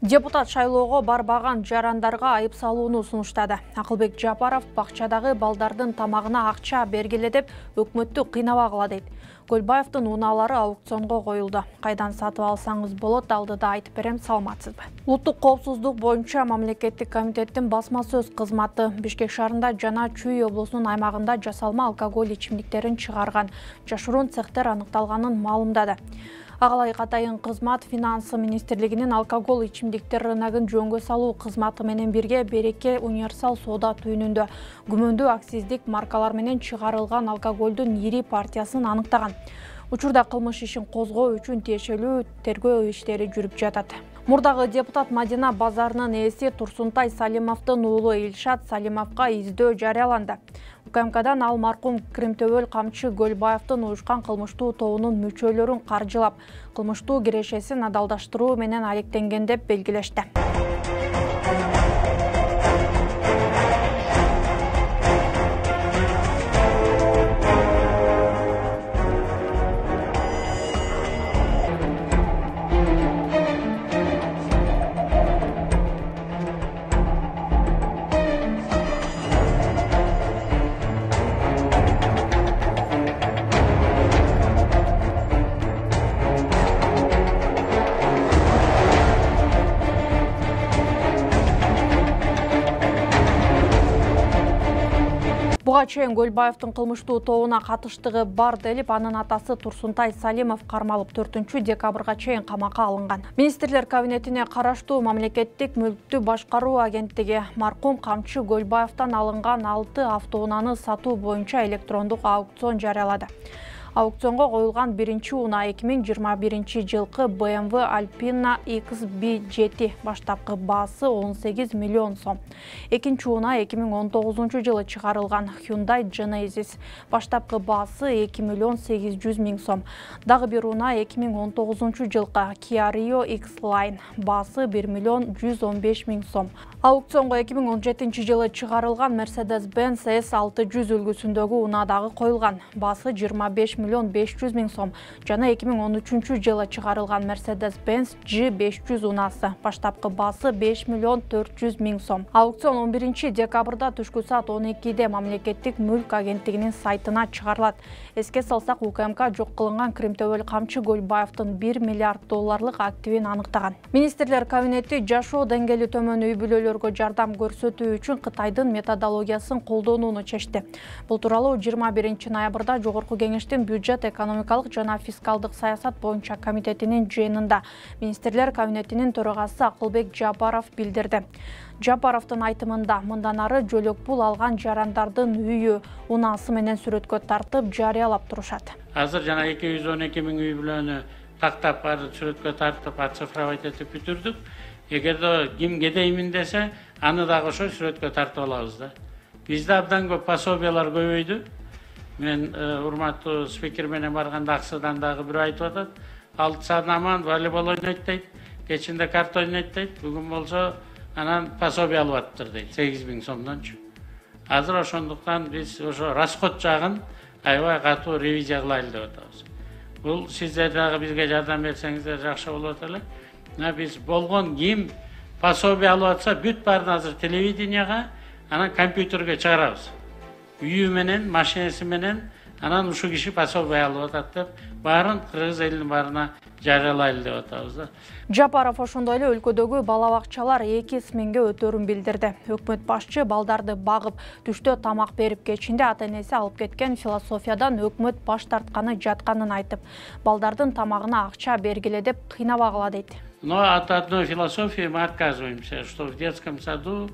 Депутат шайлоого барбаган жарандарга айып салууну сунуштады. Акылбек Жапаров бакчадагы балдардын тамагына акча бергиле деп өкмөттү кыйнабагыла дейт. Көлбаевдин унаалары аукционго коюлду. Кайдан сатып алсаңыз болот, алдыда айтып берем, саламатсызбы? Улуттук коопсуздук боюнча мамлекеттик комитеттин басма сөз кызматы Бишкек шаарында жана Чүй облусунун аймагында жасалма алкоголь ичимдиктерин чыгарган жашыруун цехтер аныкталганын маалымдады. Агалай Катайын кызмат Финансы министрлигинин алкоголь ичимдиктер рыногун жөнгө салуу кызматы менен бирге Береке универсал соода түйүнүндө күмөндүү акциздик маркалар менен чыгарылган алкоголдун ири партиясын аныктаган. Учурда кылмыш ишин козгоо үчүн тиешелүү тергөө иштери жүрүп жатат. Мурдагы депутат Мадина базарынын ээси Турсунтай Салимовдун уулу Илшат Салимовго издөө жарыяланды. УКМКдан ал маркум Кримтөбөл камчы Көлбаевдин уюшкан кылмыштуу тобунун мүчөлөрүн каржылап, кылмыштуу кирешесин адалдаштыруу менен алектенген деп белгилешти. Буга чейин Көлбаевдин кылмыштуу тобуна катыштыгы бар делип, анын атасы Турсунтай Салимов кармалып 4 декабрга чейин камакка алынган. Министрлер кабинетине караштуу мамлекеттик мүлктү башкаруу агенттиги маркум камчы Көлбаевден алынган 6 автоунааны сатуу боюнча электрондук аукцион жарыялады. Аукционго коюлган биринчи унаа 2021 жылкы BMW Alpina XB7 баштапкы баасы 18 миллион сом. Экинчи унаа 2019 жылы чыгарылган Hyundai Genesis баштапкы баасы 2 миллион 800 миң сом. Дагы бир унаа 2019 жылкы Kia Rio X-Line баасы 1 миллион 115 миң сом. Аукционго 2017 жылы чыгарылган Mercedes-Benz S600 үлгүсүндөгү унаа дагы коюлган. Баасы 25 миллион 500 миң сом. Жана 2013 жылы чыгарылган Mercedes-Benz G500 унаасы баштапкы баасы 5 миллион 400 миң сом. Аукцион 11 декабрда түшкү саат 12-де мамлекеттик мүлк агенттигинин сайтына чыгарылат. Эске салсак, УКМК жок кылынган Кримтөбөл камчы Көлбаевдин 1 миллиард долларлык активин аныктаган. Министрлер кабинети жашоо деңгээли төмөн үй бүлөлөргө жардам көрсөтүү үчүн Кытайдын методологиясын колдонууну чечти. Бул тууралуу 21 ноябрда Жогорку кеңештин бюджет экономикалык жана фискалдык саясат боюнча комитетинин жыйынында Министрлер кабинетинин төрагасы Акылбек Жапаров билдирди. Жапаровдун айтымында мындан ары жөлөк пул алган жарандардын үйү унаасы менен сүрөткө тартып жарыялап турушат. Азыр жана 212 миң үй бүлөнү тактап сүрөткө тартып оцифровать этип бүтүрдүк. Эгерде ким кедеймин десе, аны дагы ошо сүрөткө тартып алабыз да. Бизде абдан көп пособиялар көбөйдү. Мен урматтуу спикер менен барганда Аксыдан дагы бирөө айтып атат. 6 саат наман волейбол ойнойт дейт, кечинде карта ойнойт дейт. Бүгүн болсо анан пособие алып атыптыр дейт, 8 миң сомдончу. Азыр ошондуктан биз ошо расход жагын аябай катуу ревизия кылайлы деп атабыз. Бул сиздер дагы бизге жардам берсеңиздер жакшы болот эле. Биз болгон ким пособие алып атса, бүт баарын азыр телевиденияга, анан компьютерге чыгарабыз. Үйү менен, машинеси менен, анан ушул киши пособие алып атат деп, баарын кыргыз элинин баарына жарыялайлы деп атабыз да. Жапаров ошондой эле өлкөдөгү бала бакчалар 2 сменге өтөрүн билдирди. Өкмөт башчы балдарды багып, түштө тамак берип, кечинде ата-энеси алып кеткен философиядан өкмөт баш тартканы жатканын айтып, балдардын тамагына акча бергиле деп кыйнабагыла дейт. Но от одной философии мы отказываемся, что в детском саду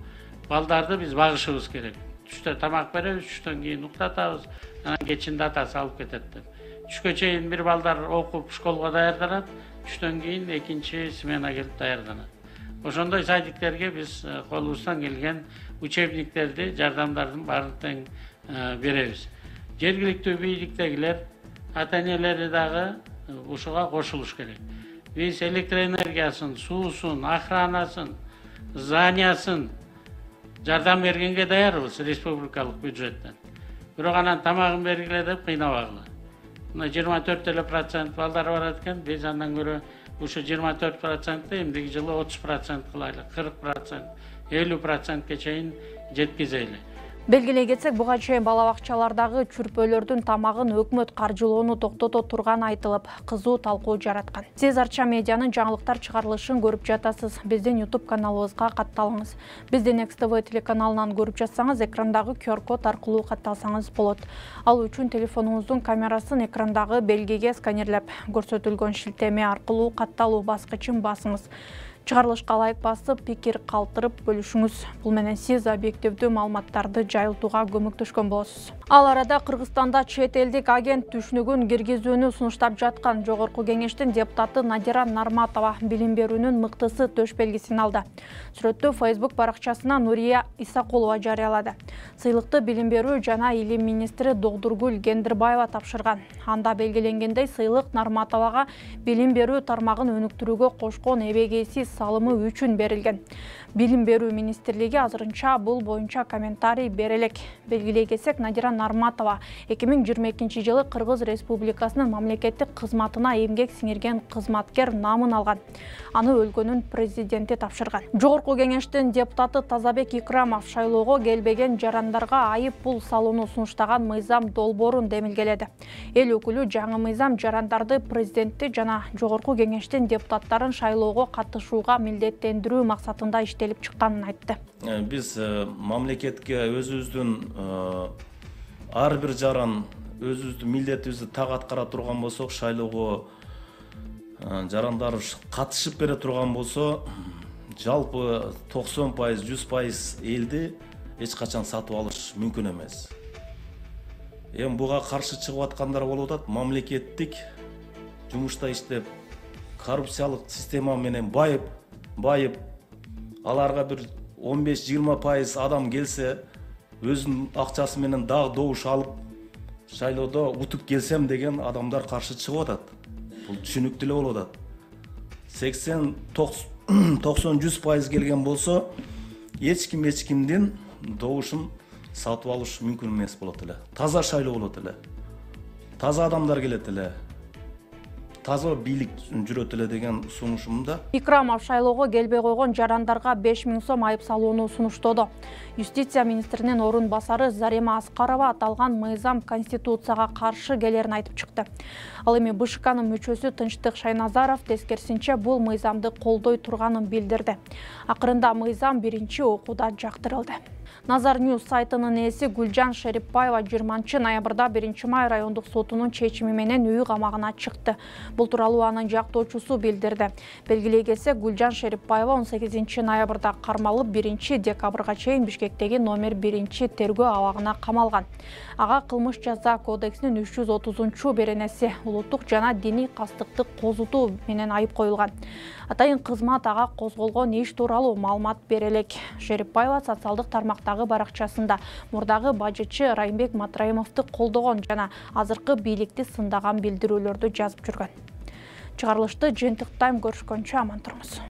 балдарды биз багышыбыз керек. Түштө тамак беребиз, түштөн кийин уктатабыз, анан кечинде атасы алып кетет деп. Түшкө чейин бир балдар окуп школго даярданат, түштөн кийин экинчи смена келип даярданат. Ошондой садиктерге биз колубуздан келген учебниктерди, жардамдардын баарын тең беребиз. Жергиликтүү бийликтегилер, ата-энелери дагы ушуга кошулуш керек. Биз электроэнергиясын, суусун, охранасын, зданиясын жардам бергенге даярбыз республикалык бюджеттен. Бирок анан тамагын бергиле деп кыйнабагыла. 24% балдар барат экен, биз андан көрө ушу 24%, эмдиги жылы 30% кылайлы, 40%, 50%ке чейин жеткизели. Белгилей кетсек, буга чейин бала бакчалардагы чүрпөлөрдүн тамагын өкмөт каржылоону токтото турганы айтылып, кызуу талкуу жараткан. Сиз Арча медианын жаңылыктар чыгарылышын көрүп жатасыз. Биздин YouTube каналыбызга катталыңыз. Бизди Next TV телеканалынан көрүп жатсаңыз, экрандагы QR-код аркылуу катталсаңыз болот. Ал үчүн телефонуңуздун камерасын экрандагы белгиге сканерлеп, көрсөтүлгөн шилтеме аркылуу катталуу баскычын басыңыз. Чыгарылышка ылайык басып, пикир калтырып бөлүшүңүз. Бул менен сиз объективдүү маалыматтарды жайылтууга көмөктөшкөн болосуз. Ал арада Кыргызстанда чет элдик агент түшүнүгүн киргизүүнү сунуштап жаткан Жогорку кеңештин депутаты Надира Нарматова билим берүүнүн мыктысы төш белгисин алды. Сүрөттү Facebook баракчасына Нурия Исакулова жарыялады. Сыйлыкты билим берүү жана илим министри Догдургүл Гендирбаева тапшырган. Анда белгиленгендей, сыйлык Нарматовага билим берүү тармагын өнүктүрүүгө кошкон эбегейсиз салымы үчүн берилген. Билим берүү министрлиги азырынча бул боюнча комментарий бере элек. Белгилей кетсек, Надира Нарматова 2022 жылы Кыргыз Республикасынын мамлекеттик кызматына эмгек сиңирген кызматкер намын алган. Аны өлкөнүн президенти тапшырган. Жогорку кеңештин депутаты Тазабек Икрамов шайлоого келбеген жарандарга айып пул салууну сунуштаган мыйзам долбоорун демилгеледи. Эл өкүлү жаңы мыйзам жарандарды президентти жана Жогорку кеңештин депутаттарын шайлоого катышууга милдеттендирүү максатында иштелип чыкканын айтты. Биз мамлекетке өзүбүздүн ар бир жаран өзүбүздүн милдетибизди так аткара турган болсок, шайлоого жарандар катышып бере турган болсо, жалпы 90%, 100% элди эч качан сатып алыш мүмкүн эмес. Эми буга каршы чыгып аткандар болуп атат. Мамлекеттик жумушта иштеп, коррупциялык система менен байып, аларга бир 15-20% адам келсе, өзүнүн акчасы менен дагы добуш алып, шайлоодо утуп келсем деген адамдар каршы чыгып атат. Бул түшүнүктүү эле болуп атат. 80-90-100% келген болсо, эч кимдин добушун сатып алыш мүмкүн эмес болот эле. Таза шайлоо болот эле. Таза адамдар келет эле. Таза бийлик жүрөт эле деген сунушумда. Икрамов шайлоого келбей койгон жарандарга 5000 сом айып салууну сунуштоду. Юстиция министринин орун басары Зарема Аскарова аталган мыйзам конституцияга каршы келерин айтып чыкты. Ал эми БШКнын мүчөсү Тынчтык Шайназаров тескерисинче бул мыйзамды колдой турганын билдирди. Акырында мыйзам биринчи окууда жактырылды. Nazar News сайтынын ээси Гүлжан Шерипбаева 20 ноябрда 1 май райондук сотунун чечими менен үй камагына чыкты. Бул тууралуу анын жактоочусу билдирди. Белгилей кетсек, Гүлжан Шерипбаева 18 ноябрда кармалып 1 декабрга чейин Бишкектеги номер 1 тергөө абагына камалган. Ага кылмыш жаза кодексинин 330 беренеси улуттук жана диний кастыкты козутуу менен айып коюлган. Атайын кызмат ага козголгон иш тууралуу маалымат бере элек. Шерипбаева социалдык тармактагы баракчасында мурдагы бажычы Райымбек Матраимовду колдогон жана азыркы бийликти сындаган билдирүүлөрдү жазып жүргөн. Чыгарылышты жыйынтыктайм, көрүшкөнчө аман туруңуз.